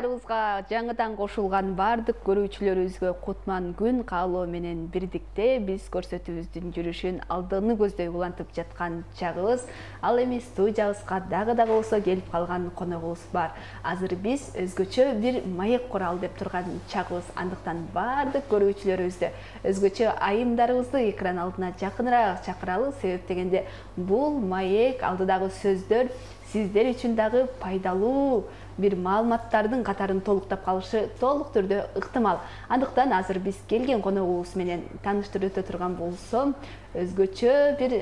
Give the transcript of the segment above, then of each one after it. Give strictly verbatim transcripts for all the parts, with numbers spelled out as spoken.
Каналдарыбызга жаңыдан кошулган бардык көрүүчүлөрүбүзгө кутман күн каалоо менен бирдикте биз көрсөтүүбүздүн жүрүшүн алдыны көздөй улантып жаткан чагыбыз. Ал эми студиябызга дагы дагы болсо келип калган коногубуз бар. Азыр биз өзгөчө бир маек куралы деп турган чагыбыз. Андыктан бардык көрүүчүлөрүбүздү өзгөчө айымдарыбызды экран алдына жакыныраак чакыралы. Себеп дегенде бул маек алдыдагы сөздөр сиздер үчүн дагы пайдалуу бир маалыматтардын катарын толуктап калышы толук түрдө ыктымал. Андыктан азыр биз келген коногубуз менен тааныштырып өтө турган болсом, өзгөчө бир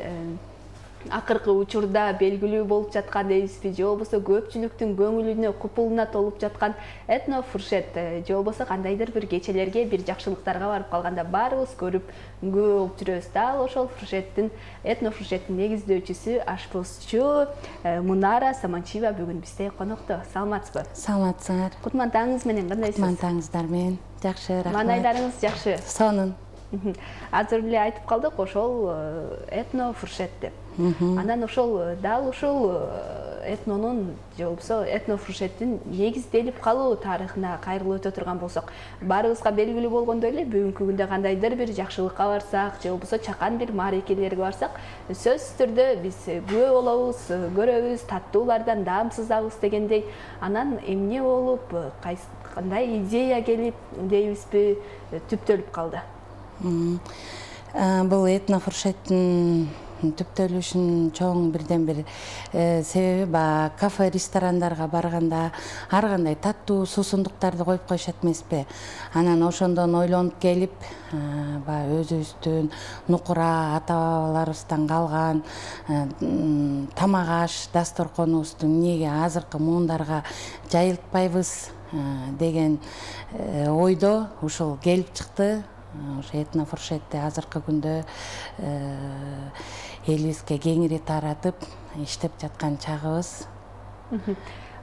акыркы учурда белгилүү болуп жаткан дейбизби, же болбосо көпчүлүктүн көңүлүнө, купулуна толуп жаткан этнофуршет, же болбосо кандайдыр бир кечелерге, бир жакшылыктарга барып калганда баарыбыз көрүп күбө болуп жүрөбүз. Дал ошол фуршеттин, этнофуршеттин негиздөөчүсү, ашпозчу Мунара Саманчиева бүгүн бизде конокто. Саламатсызбы? Саламатсыңар. Кутман таңыңыз менен кандайсыз? Кутман таңыңыздар менен жакшы, рахмат. Маанайларыңыз жакшы? Сонун. Азыр эле айтып калдык ошол этнофуршет деп. Анан ошол дал ушул этнонун же болбосо этнофуршеттин негизделип калуу тарыхына кайрылып өтө турган болсок, баарыбызга белгилүү болгондой эле бүгүнкү күндө кандайдыр бир жакшылыкка барсак, же болбосо чакан бир маарекелерге барсак, сөзсүз түрдө биз күбө болобуз, көрөбүз, таттуулардан даамсызабыз дегендей. Анан эмне болуп, кандай идея келип дейбизби, түптөлүп калды? Бул этнофуршеттин түптөлүшүнүн чоң бирден бир себеби баягы кафе, ресторандарга барганда ар кандай таттуу суусундуктарды коюп коюшат эмеспи. Анан ошондон ойлонуп келип, баягы өзүбүздүн нукура ата-бабаларыбыздан калган тамак аш дасторконубузду эмнеге азыркы муундарга жайылтпайбыз деген ойдо ушул келип чыкты. Ошо этнофуршетти азыркы күндө элибизге кеңири таратып иштеп жаткан чагыбыз.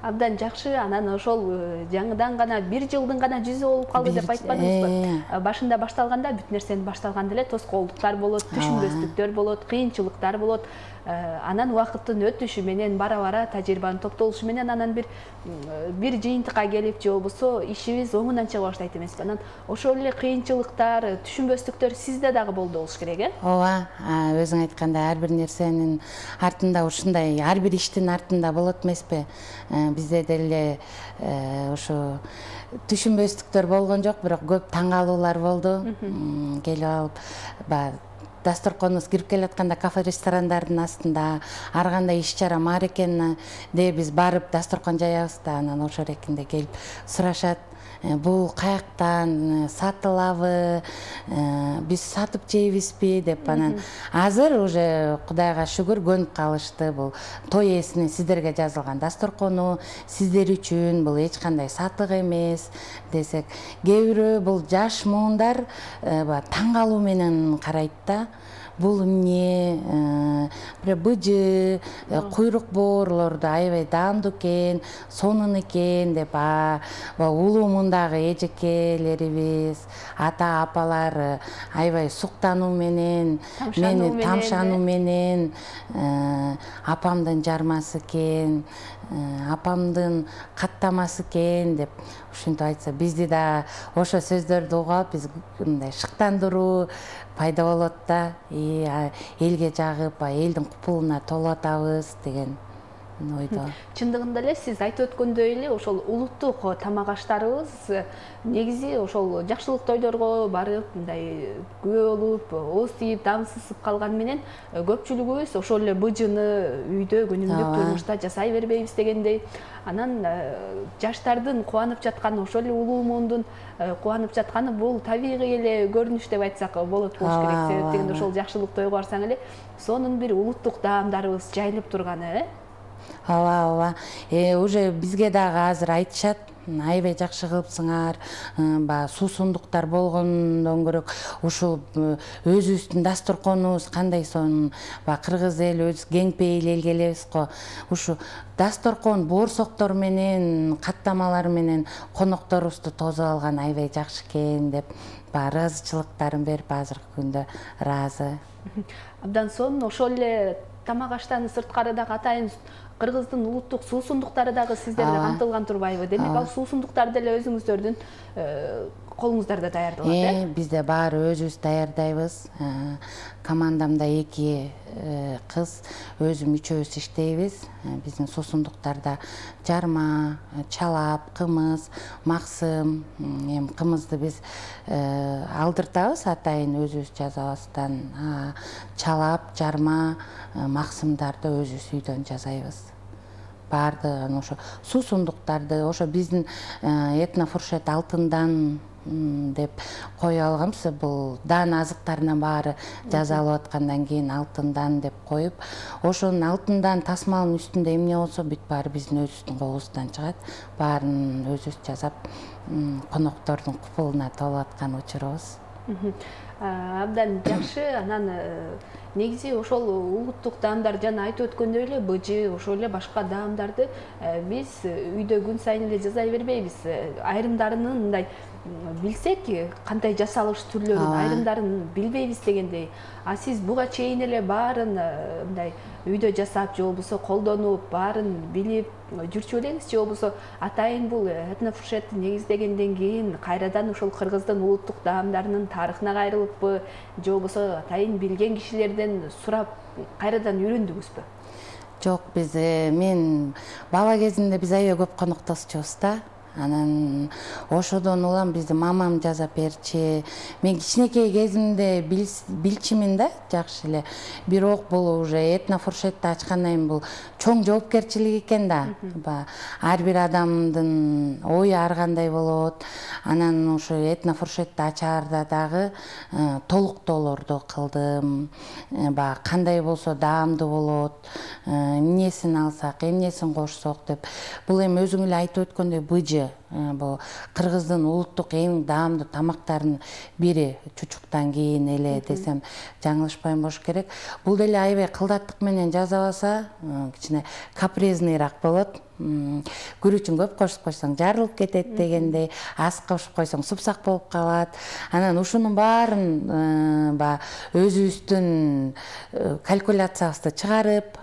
Абдан жакшы. Анан ошол жаңыдан гана бир жылдын гана жүзү болуп калды деп айтпадыңызбы? Башында башталганда бүт нерсенин башталганда эле тоскоолдуктар болот, түшүнбөстүктөр болот, кыйынчылыктар болот. Анан убакыттын өтүшү менен бара-бара тажрыйбанын топтолушу менен анан бир бир жыйынтыкка келип, же болбосо ишибиз оңунан чыга баштайт эмеспи? Анан ошол эле кыйынчылыктар, түшүнбөстүктөр сизде дагы болду болуш керек, э? Ооба, өзүң айткандай, ар бир нерсенин артында ушундай, ар бир иштин артында болот эмеспи? Бизде деле ушу түшүнбөстүктөр болгон жок, бирок көп таң калуулар болду. Келип алып, баягы дасторконубуз кирип келатканда кафе, ресторандардын астында ар кандай иш-чара, маарекени де биз барып дасторкон жаябыз да, анан ошол эркинде келип сурашат. Бул каяктан сатылабы, биз сатып жейбизби деп. Анан азыр уже Кудайга шүгүр көнүп калышты. Бул той ээсине сиздерге жазылган дасторкону, сиздер үчүн бул эч кандай сатык эмес десек, кээ бирөө бул жаш муундар таң калуу менен карайт да. Бул эмне, быжы, куйрук боорлорду аябай даамдуу экен, сонун экен деп, улуу мундагы эжекелерибиз, ата апалар аябай суктануу менен, мени тамшануу менен, апамдын жармасы экен, апамдын каттамасы экен деп ушинтип айтса, бизди да ошо сөздөрдү угуп, биз мындай шыктандыруу пайда болот да, элге жагып, элдин купулуна толуп атабыз деген ойдо. Чындыгында эле сиз айтып өткөндөй эле ошол улуттук тамак аштарыбыз негизи ошол жакшылык тойлорго барып, мындай күбө болуп, ооз тийип, даамсызып калган менен көпчүлүгүбүз ошол эле быжыны үйдө күнүмдүк турмушта жасай бербейбиз дегендей. Анан жаштардын кубанып жатканы, ошол эле улуу муундун кубанып жатканы бул табигый эле көрүнүш деп айтсак болот болуш керек. Себеп дегенде ошол жакшылык тойго барсаң эле сонун бир улуттук даамдарыбыз жайылып турганы, э? Ооба, ооба. Уже бизге дагы азыр айтышат, аябай жакшы кылыпсыңар, баягы суусундуктар болгондон көрөк ушул өзүбүздүн дасторконубуз кандай сонун, баягы кыргыз эл өз кең пейил эл келебиз го. Ушу дасторкон боорсоктор менен, каттамалар менен конокторубузду тосуп алган аябай жакшы экен деп, баягы ыраазычылыктарын берип азыркы күндө ыраазы. Абдан сонун. Ошол эле тамак аштан сырткары дагы атайын Кыргыздын улуттук суусундуктары дагы сиздерде камтылган турбайбы? Демек ал суусундуктар деле өзүңүздөрдүн колуңуздарда даярдалат, э? Бизде баары өзүбүз даярдайбыз. Командамда эки кыз, өзүм үчөөбүз иштейбиз. Биздин суусундуктарда жарма, чалап, кымыз, максым, эми кымызды биз алдыртабыз атайын өзүбүз жасабастан. Чалап, жарма, максымдарды өзүбүз үйдөн жасайбыз. Баардыгын ошо суусундуктарды ошо биздин этнофуршет алтындан деп кое алганбыз. Бул даан азыктарынын баары жасалып аткандан кийин алтындан деп коюп, ошонун алтындан тасмалынын үстүндө эмне болсо бүт баары биздин өзүбүздүн колубуздан чыгат. Баарын өзүбүз жасап, коноктордун купулуна толуп аткан учурубуз. Абдан жакшы. Анан негизи ошол улуттук даамдар жана айтып өткөндөй эле быжы, ошол эле башка даамдарды биз үйдө күн сайын эле жасай бербейбиз. Айрымдарынын мындай билсек, кандай жасалыш түрлөрүн, айрымдарын билбейбиз дегендей. А сиз буга чейин эле баарын мындай үйдө жасап, же болбосо колдонуп, баарын билип жүрчү белеңиз, же болбосо атайын бул этнофуршетти негиздегенден кийин кайрадан ошол кыргыздын улуттук даамдарынын тарыхына кайрылыппы, же болбосо атайын билген кишилерден сурап кайрадан үйрөндүңүзбү? Жок, биз мен бала кезимде биз аябай көп коноктошчубуз да. Анан ошодон улам бизди мамам жасап берчи. Мен кичинекей кезимде билчимин да, жакшы эле. Бирок бул уже этнофуршетти ачкандан кийин бул чоң жоопкерчилик экен да. Ар бир адамдын ою ар кандай болот. Анан ошо этнофуршетти ачаарда дагы толуктоолорду кылдым. Баягы кандай болсо даамдуу болот, эмнесин алсак, эмнесин кошсок деп. Бул эми өзүң эле айтып өткөндөй быжы. Бул Кыргыздын улуттук эң даамдуу тамактарынын бири, чучуктан кийин эле десем жаңылышпайм болуш керек. Бул деле аябай кылдаттык менен жасабаса, кичине капризнийраак болот. Күрүчүн көп кошуп койсоң жарылып кетет дегендей, аз кошуп койсоң супсак болуп калат. Анан ушунун баарын ба өзүбүздүн калькуляциябызды чыгарып,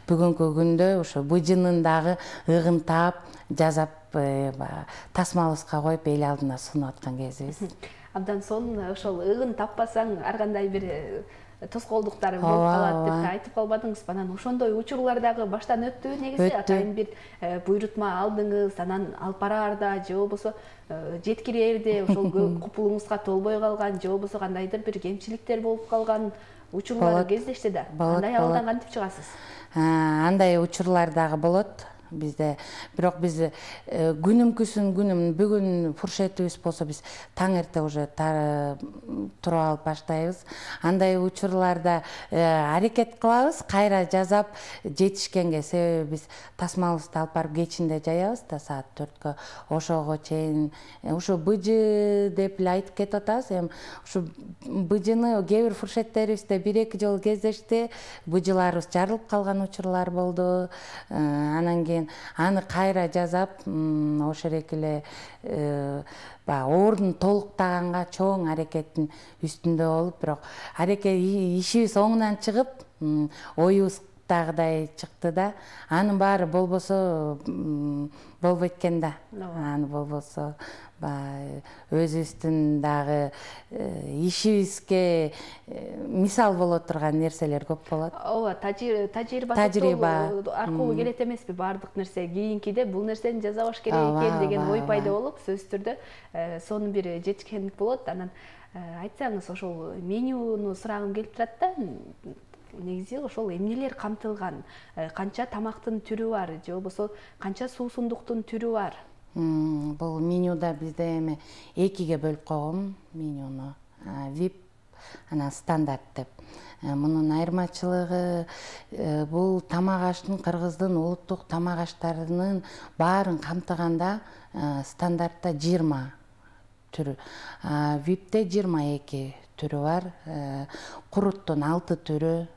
бүгүнкү күндө ошо быжынын дагы ыгынтап жасап тасмалыбызга коюп эл алдына сунуп аткан кезибиз. Абдан сонун. Ошол ыгын таппасаң ар кандай бир тоскоолдуктар болуп калат деп айтып калбадыңызбы? Анан ошондой учурлар дагы баштан өттү негизи. Атайын бир буйрутма алдыңыз, анан алып бараарда же болбосо жеткирээрде ошол купулуңузга толбой калган, же болбосо кандайдыр бир кемчиликтер болуп калган учурлар кездешти да. Андай абалдан кантип чыгасыз? Андай учурлар дагы болот бизде. Бирок биз күнүмкүсүн күнүм бүгүн фуршетибиз болсо биз таң эрте уже туруп алып баштайбыз. Андай учурларда аракет кылабыз, кайра жасап жетишкенге. Себеби биз тасмалыбызды алып барып кечинде жаябыз да саат төрткө. Ошого чейин ушу быжы деп эле айтып кетип атабыз. Эми ушу быжыны кээ бир фуршеттерибизде бир эки жолу кездешти. Быжыларыбыз жарылып калган учурлар болду. Анан кийин аны кайра жасап, ошол эле баягы ордун толуктаганга чоң аракеттин үстүндө болуп, бирок аракет ишибиз оңунан чыгып, оюбуз дагыдай чыкты да. Анын баары болбосо болбойт экен да. Аны болбосо өзүбүздүн дагы ишибизге мисал боло турган нерселер көп болот. Ооба, тажрыйба аркылуу келет эмеспи баардык нерсе? Кийинкиде бул нерсени жасабаш керек экен деген ой пайда болуп, сөзсүз түрдө сонун бир жетишкендик болот. Анан айтсаңыз, ошол менюну сурагым келип турат да. Негизи ошол эмнелер камтылган, канча тамактын түрү бар, же болбосо канча суусундуктун түрү бар? Бул менюда бизде эми экиге бөлүп койгон менюну. вип, анан стандарт деп. Мунун айырмачылыгы бул тамак аштын, Кыргыздын улуттук тамак аштарынын баарын камтыганда стандартта жыйырма түрү. випте жыйырма эки түрү бар. Куруттун алты түрү,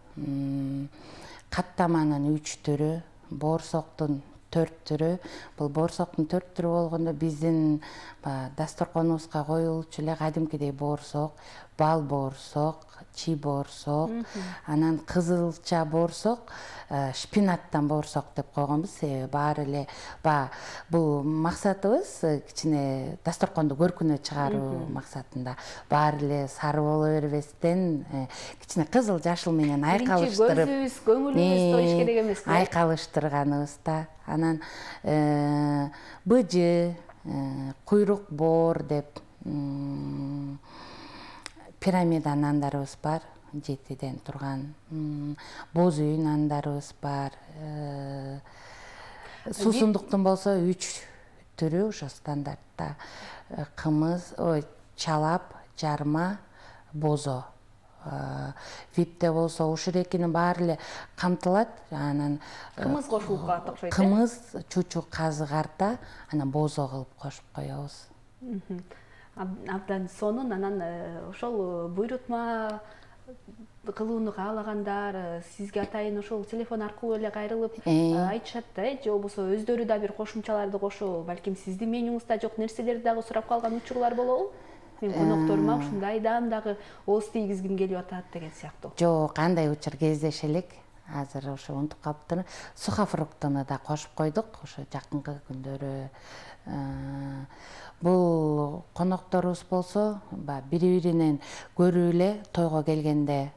каттаманын үч түрү, боорсоктун төрт түрү. Бул боорсоктун төрт түрү болгондо биздин дасторконубузга коюлчу эле кадимкидей боорсок, бал боорсок, чи боорсок, анан кызылча боорсок, шпинаттан боорсок деп койгонбуз. Баары эле баягы бул максатыбыз кичине дасторконду көркүнө чыгаруу максатында. Баары эле сары боло бербестен кичине кызыл жашыл менен айкалыштырып, көзүбүз, көңүлүбүз тоюш керек эмеспи? Айкалыштырганыбыз да. Анан быжы, куйрук боор деп пирамида нандарыбыз бар, жетиден турган. Боз үй нандарыбыз бар. Суусундуктун болсо үч түрү ошо стандартта. Кымыз, ой, чалап, жарма, бозо. Випте болсо ушул экинин баары эле камтылат. Анан кымыз кошулуп калат окшойт. Кымыз чучук казы карта, анан бозо кылып кошуп коебуз. Абдан сонун. Анан ошол буйрутма кылууну каалагандар сизге атайын ошол телефон аркылуу эле кайрылып айтышат да, же болбосо өздөрү да бир кошумчаларды кошуп, балким сиздин менюңузда жок нерселерди дагы сурап калган учурлар болобу? Мен конокторума ушундайдан дагы ооз тийгизгим келип атат деген сыяктуу. Жок, андай учур кездеше элек. Азыр ошо унутуп калыптыр. Сухофруктуну да кошуп койдук ошо жакынкы күндөрү. Бул конокторубуз болсо, бири-биринен көрүп эле тойго келгенде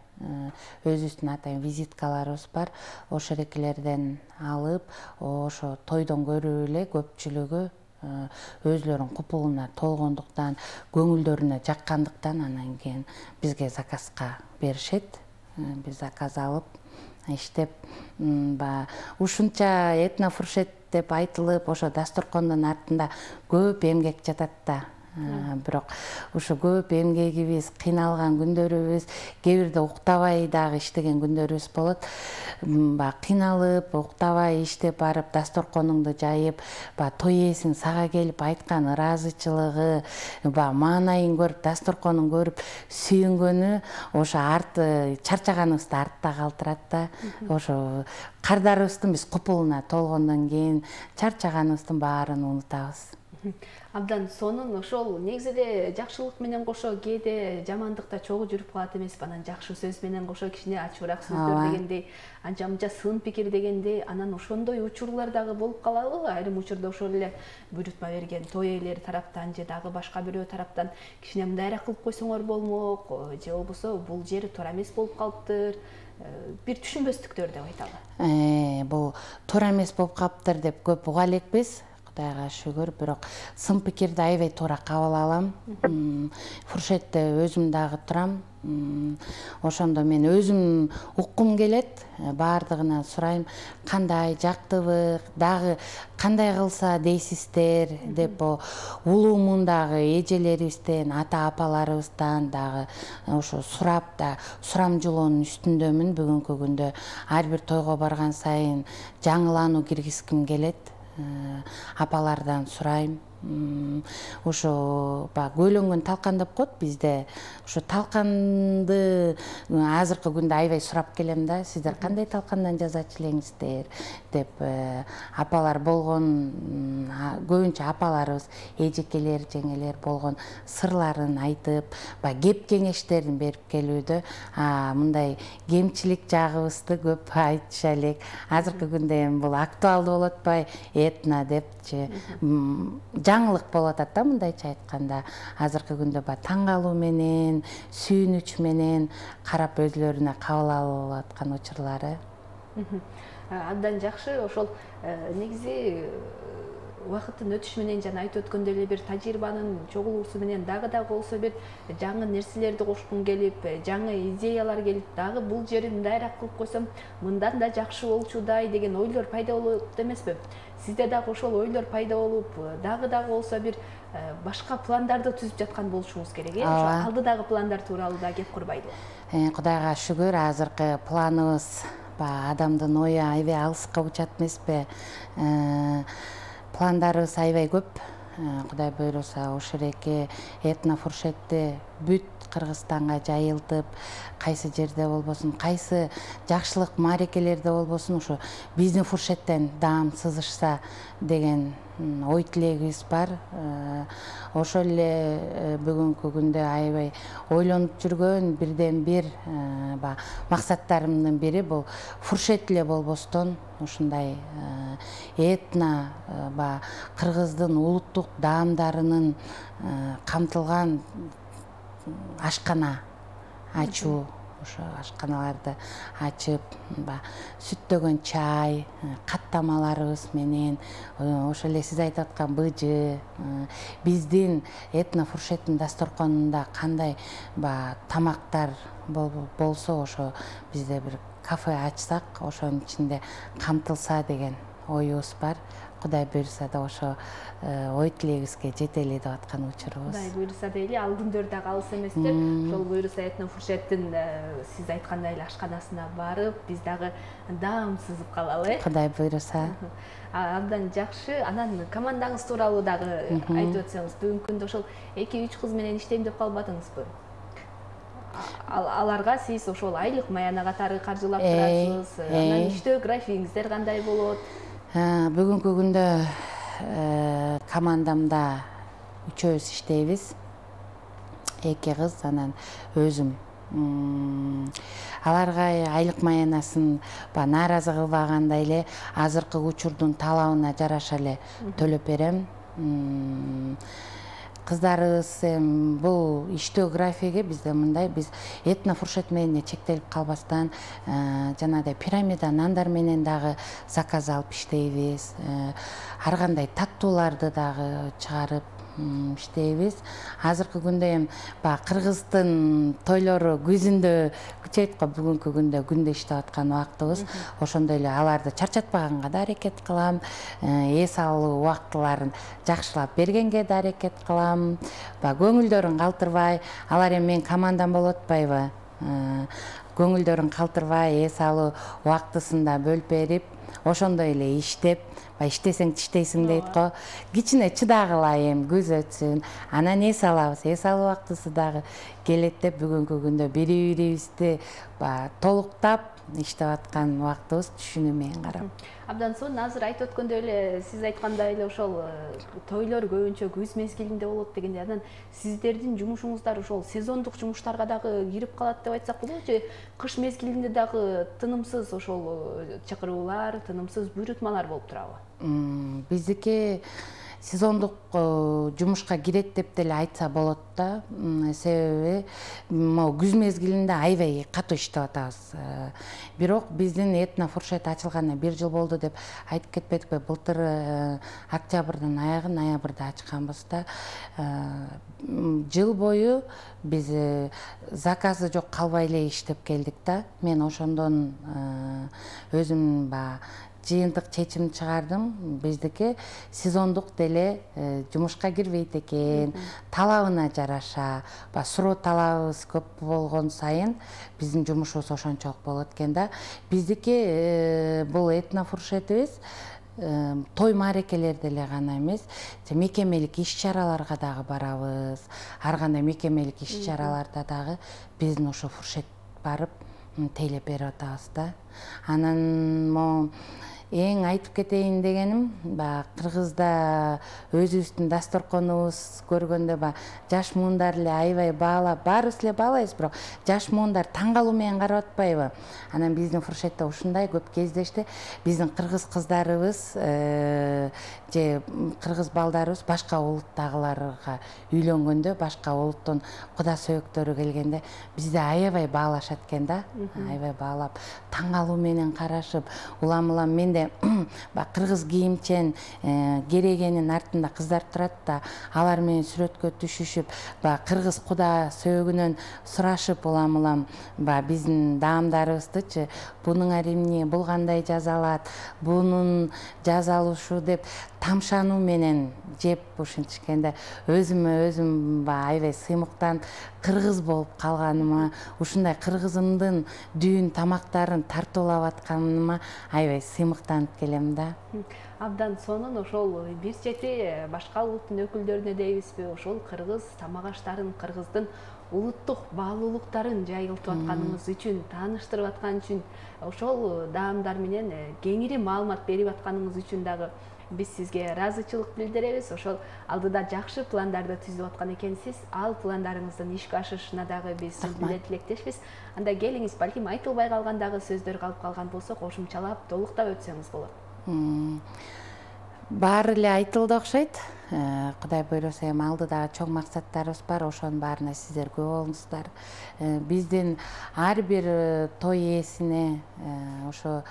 өзүбүздүн атайын визиткаларыбыз бар. Ошо эрекелерден алып, ошо тойдон көрүп эле көпчүлүгү өзлөрүнүн купулуна толгондуктан, көңүлдөрүнө жаккандыктан анан кийин бизге заказга беришет. Биз заказ алып иштеп, ушунча этнофуршет деп айтылып, ошо дасторкондун артында көп эмгек жатат да. Бирок ушу көп эмгегибиз, кыйналган күндөрүбүз, кээ бирде уктабай дагы иштеген күндөрүбүз болот. Баягы кыйналып, уктабай иштеп барып, дасторконуңду жайып, баягы той ээсинин сага келип айткан ыраазычылыгы, баягы маанайын көрүп, дасторконун көрүп сүйүнгөнү ошо арты чарчаганыбызды артта калтырат да. Ошо кардарыбыздын биз купулуна толгондон кийин чарчаганыбыздын баарын унутабыз. Абдан сонун. Ошол негизи эле жакшылык менен кошо кээде жамандык да чогуу жүрүп калат эмеспи? Анан жакшы сөз менен кошо кичине ачуураак сөздөр дегендей, анча-мынча сын пикир дегендей, анан ошондой учурлар дагы болуп калабы? Айрым учурда ошол эле буйрутма берген той ээлери тараптан же дагы башка бирөө тараптан кичине мындайраак кылып койсоңор болмок, же болбосо бул жери туура эмес болуп калыптыр, бир түшүнбөстүктөр деп айталы. Бул туура эмес болуп калыптыр деп көп уга элекпиз. Кудайга шүгүр, бирок сын пикирди аябай туура кабыл алам. Фуршетте өзүм дагы турам. Ошондо мен өзүм уккум келет, баардыгынан сурайм, кандай жактыбы, дагы кандай кылса дейсиздер деп улуумундагы эжелерибизден, ата-апаларыбыздан дагы ошо сурап да сурамжылоонун үстүндөмүн бүгүнкү күндө. Ар бир тойго барган сайын жаңылануу киргизгим келет. Апалардан сурайм. Ошо баягы көйлөнгөн талкан деп коет бизде. Ошо талканды азыркы күндө аябай сурап келем да, сиздер кандай талкандан жазачу элеңиздер деп. Апалар болгон, көбүнчө апаларыбыз, эжекелер, жеңелер болгон сырларын айтып, баягы кеп кеңештерин берип келүүдө. Мындай кемчилик жагыбызды көп айтыша элек. Азыркы күндө эми бул актуалдуу болуп атпайбы? Этно депчи. Жаңылык болуп атат да, мындайча айтканда. Азыркы күндө баягы таң калуу менен, сүйүнүч менен карап өзлөрүнө кабыл алып аткан учурлары. Абдан жакшы. Ошол негизи убакыттын өтүшү менен жана айтып өткөндөй эле бир тажрыйбанын чогулуусу менен дагы дагы болсо бир жаңы нерселерди кошкун келип, жаңы идеялар келип, дагы бул жерин мындайраак кылып койсом, мындан да жакшы болчудай деген ойлор пайда болот эмеспи? Сизде дагы ошол ойлор пайда болуп, дагы дагы болсо бир башка пландарды түзүп жаткан болушуңуз керек, э? Ошо алдыдагы пландар тууралуу да кеп курбайбы? Кудайга шүгүр, азыркы планыбыз адамдын ою аябай алыска учат эмеспи? Пландарыбыз аябай көп. Кудай буйруса, ошол эки этнофуршетти бүт Кыргызстанга жайылтып, кайсы жерде болбосун, кайсы жакшылык маарекелерде болбосун ушу биздин фуршеттен даам сызышса деген ой тилегибиз бар. Ошол эле бүгүнкү күндө аябай ойлонуп жүргөн бирден бир максаттарымдын бири бул фуршет эле болбостон ушундай этно баягы кыргыздын улуттук даамдарынын камтылган ашкана ачуу. Ошо ашканаларды ачып, сүттөгөн чай, каттамаларыбыз менен, ошол эле сиз айтып аткан быжы, биздин этно фуршеттин дасторконунда кандай тамактар болсо, ошо бизде бир кафе ачсак, ошонун ичинде камтылса деген оюбуз бар. Кудай буйруса да ошо ой тилегибизге жетели деп аткан учурубуз. Кудай буйруса дейли, ал күндөр дагы алыс эместер. Ошол буйруса этно фуршеттин сиз айткандай эле ашканасына барып, биз дагы даам сызып калалы, э? Кудай буйруса. Абдан жакшы. Анан командаңыз тууралуу дагы айтып өтсөңүз. Бүгүнкү күндө ошол эки үч кыз менен иштейм деп калбадыңызбы? Аларга сиз ошол айлык маяна катары каржылап турасыз. Анан иштөө графигиңиздер кандай болот? Бүгүнкү күндө командамда үчөөбүз иштейбиз. Эки кыз, анан өзүм. Аларга айлык маянасын нааразы кылбагандай эле азыркы учурдун талабына жараша эле төлөп берем. Кыздарыбыз бул иштөө графиги бизде мындай, биз этно фуршет менен чектелип калбастан жанагыдай пирамида нандар менен дагы заказ алып иштейбиз. Ар кандай таттууларды дагы чыгарып иштейбиз. Азыркы күндө эми баягы кыргыздын тойлору күзүндө күчөйт го, бүгүнкү күндө күндө иштеп аткан убактыбыз. Ошондой эле аларды чарчатпаганга да аракет кылам. Эс алуу убактыларын жакшылап бергенге да аракет кылам. Баягы көңүлдөрүн калтырбай, алар эми менин командам болуп атпайбы? Көңүлдөрүн калтырбай, эс алуу убактысында бөлүп берип, ошондой эле иштеп, иштесең тиштейсиң дейт го. Кичине чыдагыла, эми күз өтсүн, анан эс алабыз. Эс алуу убактысы дагы келет деп бүгүнкү күндө бири-бирибизди толуктап иштеп аткан убактыбыз, түшүнүү менен карап. Абдан сонун, азыр айтып өткөндөй эле, сиз айткандай эле ошол тойлор көбүнчө күз мезгилинде болот дегенде, анан сиздердин жумушуңуздар ошол сезондук жумуштарга дагы кирип калат деп айтсак болобу, же кыш мезгилинде дагы тынымсыз ошол чакыруулар, тынымсыз буйрутмалар болуп турабы? Биздики сезондук жумушка кирет деп деле айтса болот да. Себеби могу күз мезгилинде аябай катуу иштеп атабыз. Бирок биздин этно фуршет ачылганына бир жыл болду деп айтып кетпедикпи? Былтыр октябрдын аягы, ноябрда ачканбыз да. Жыл бою биз заказы жок калбай эле иштеп келдик да. Мен ошондон өзүм ба жыйынтык чечим чыгардым. Биздики сезондук деле жумушка кирбейт экен. Талабына жараша, суроо талабыбыз көп болгон сайын биздин жумушубуз ошончолук болот экен да. Биздики бул этно фуршетибиз той маарекелерде эле гана эмес, мекемелик иш-чараларга дагы барабыз. Ар кандай мекемелик иш-чараларда дагы биздин ошо фуршет барып тейлеп берип атабыз да. Анан могу эң айтып кетейин дегеним, баягы Кыргызда өзүбүздүн дасторконубуз көргөндө баягы жаш муундар эле аябай баалап, баарыбыз эле баалайбыз, бирок жаш муундар таң калуу менен карап атпайбы? Анан биздин фуршетте ушундай көп кездешти. Биздин кыргыз кыздарыбыз же кыргыз балдарыбыз башка улуттагыларга үйлөнгөндө, башка улуттун куда сөөктөрү келгенде бизде аябай баалашат экен да. Аябай баалап, таң калуу менен карашып, улам-улам менде кыргыз кийимчен керегенин артында кыздар турат да, алар менен сүрөткө түшүшүп, кыргыз куда сөөгүнөн сурашып, улам-улам биздин даамдарыбыздычы, бунуңар эмне, бул кандай жазалат, бунун жазалышы деп тамшануу менен жеп ушинтишкенде өзүмө өзүм аябай сыймыктанып, кыргыз болуп калганыма, ушундай кыргызымдын дүйүн тамактарын тартуулап атканыма аябай сыймыктанып келем да. Абдан сонун. Ошол бир чети башка улуттун өкүлдөрүнө дейбизби, ошол кыргыз тамак аштарын, кыргыздын улуттук баалуулуктарын жайылтып атканыңыз үчүн, тааныштырып аткан үчүн, ошол даамдар менен кеңири маалымат берип атканыңыз үчүн дагы биз сизге ыраазычылык билдиребиз. Ошол алдыда жакшы пландарды түзүп аткан экенсиз. Ал пландарыңыздын ишке ашышына дагы биз менен тилектешпиз. Анда келиңиз, балким айтылбай калган дагы сөздөр калып калган болсо, кошумчалап, толуктап өтсөңүз болот. Баары эле айтылды окшойт. Кудай буйруса эми алдыдагы чоң максаттарыбыз бар, ошонун баарына сиздер күбө болуңуздар. Биздин ар бир той ээсине, ошо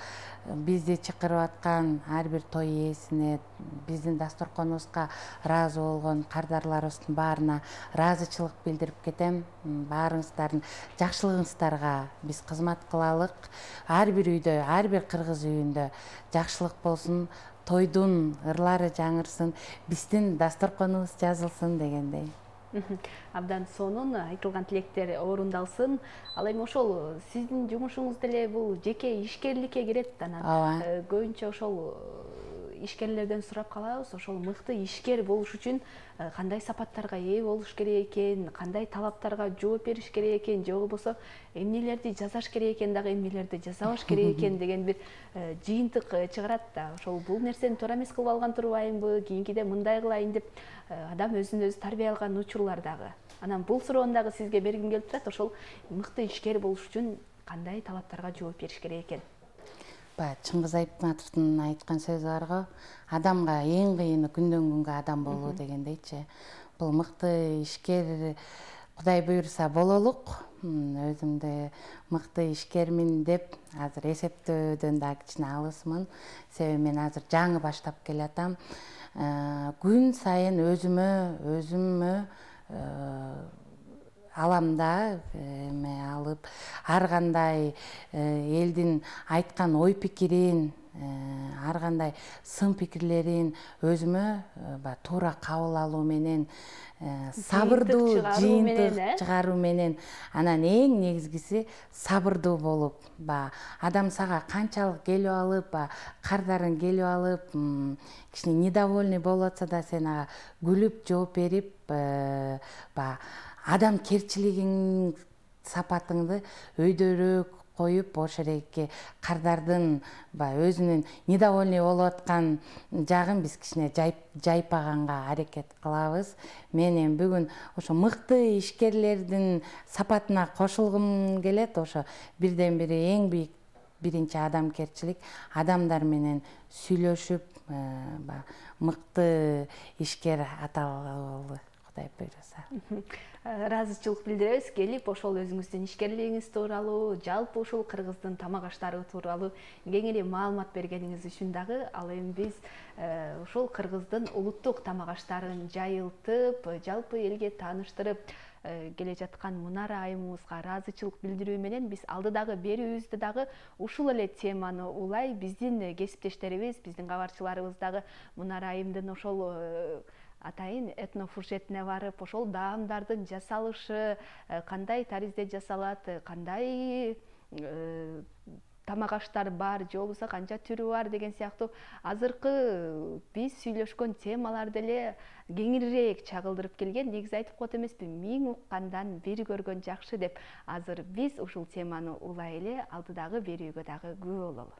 бизди чакырып аткан ар бир той ээсине, биздин дасторконубузга ыраазы болгон кардарларыбыздын баарына ыраазычылык билдирип кетем. Баарыңыздардын жакшылыгыңыздарга биз кызмат кылалык. Ар бир үйдө, ар бир кыргыз үйүндө жакшылык болсун, тойдун ырлары жаңырсын, биздин дасторконубуз жазылсын дегендей. Абдан сонун, айтылган тилектер орундалсын. Ал эми ошол сиздин жумушуңуз деле бул жеке ишкерликке кирет. Анан көбүнчө ошол ишкерлерден сурап калабыз, ошол мыкты ишкер болуш үчүн кандай сапаттарга ээ болуш керек экен, кандай талаптарга жооп бериш керек экен, же болбосо эмнелерди жасаш керек экен, дагы эмнелерди жасабаш керек экен деген бир жыйынтык чыгарат да. Ошол бул нерсени туура эмес кылып алган турбаймынбы, кийинкиде мындай кылайын деп адам өзүн өзү тарбия алган учурлар дагы. Анан бул суроону дагы сизге бергим келип турат. Ошол мыкты ишкер болуш үчүн кандай талаптарга жооп бериш керек экен? Чыңгыз Айтматовдун айткан сөзү барго, адамга эң кыйыны күндөн күнгө адам болуу дегендейчи. Бул мыкты ишкер Кудай буйруса бололук. Өзүмдү мыкты ишкермин деп азыр эсептөөдөн да кичине алысмын. Себеби мен азыр жаңы баштап келатам. Күн сайын өзүмө, өзүмө аламда эме алып, ар кандай элдин айткан ой пикирин, ар кандай сын пикирлерин өзүмө туура кабыл алуу менен, сабырдуу жыйынтык чыгаруу менен, анан эң негизгиси сабырдуу болуп, адам сага канчалык келип алып, кардарың келип алып, кичине недовольный болуп атса да сен ага күлүп жооп берип, адамкерчилигиң сапатыңды өйдөрөөк коюп, ошол эки кардардын өзүнүн недовольный болуп аткан жагын биз кичине жайпаганга аракет кылабыз. Мен эми бүгүн ошо мыкты ишкерлердин сапатына кошулгум келет. Ошо бирден бири эң бийик биринчи адамкерчилик, адамдар менен сүйлөшүп, мыкты ишкер аталалы, Кудай буйруса. Ыраазычылык билдиребиз. Келип ошол өзүңүздүн ишкерлигиңиз тууралуу, жалпы ушул кыргыздын тамак аштары тууралуу кеңири маалымат бергениңиз үчүн дагы. Ал эми биз ушул кыргыздын улуттук тамак аштарын жайылтып, жалпы элге тааныштырып келе жаткан Мунара айымыбызга ыраазычылык билдирүү менен биз алдыдагы берүүбүздү дагы ушул эле теманы улай биздин кесиптештерибиз, биздин кабарчыларыбыз дагы Мунара айымдын ошол атайын этнофуршетине барып, ошол даамдардын жасалышы кандай таризде жасалат, кандай тамак аштар бар, же болбосо канча түрү бар деген сыяктуу азыркы биз сүйлөшкөн темаларды эле кеңирээк чагылдырып келген. Негизи айтып коет эмеспи, миң уккандан бир көргөн жакшы деп. Азыр биз ушул теманы улай эле алдыдагы берүүгө дагы күбө бололу.